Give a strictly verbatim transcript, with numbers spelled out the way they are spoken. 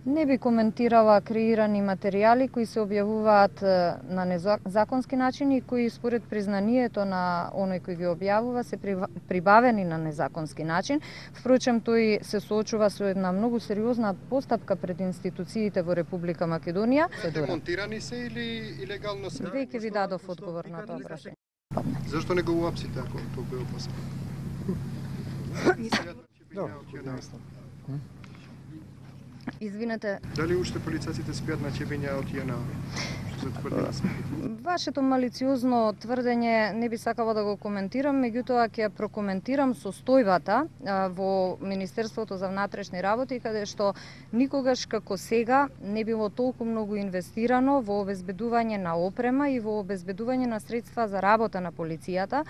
Не би коментирала креирани материјали кои се објавуваат на незаконски начин и кои според признанието на оној кој ги објавува се прибавени на незаконски начин. Впрочем, тој се соочува со една многу сериозна постапка пред институциите во Република Македонија. Демонтирани се или илегално се? Веќе ви дадов одговор на тоа прашање. Зашто не го уапсите ако тоа бе опасно? Извинете. Дали уште полицајците спијат на ќебиња од J N A? Што се тврди на сметите? Вашето малициозно тврдење не би сакала да го коментирам, меѓутоа ќе ја прокоментирам состојбата во Министерството за внатрешни работи, каде што никогаш како сега не било толку многу инвестирано во обезбедување на опрема и во обезбедување на средства за работа на полицијата.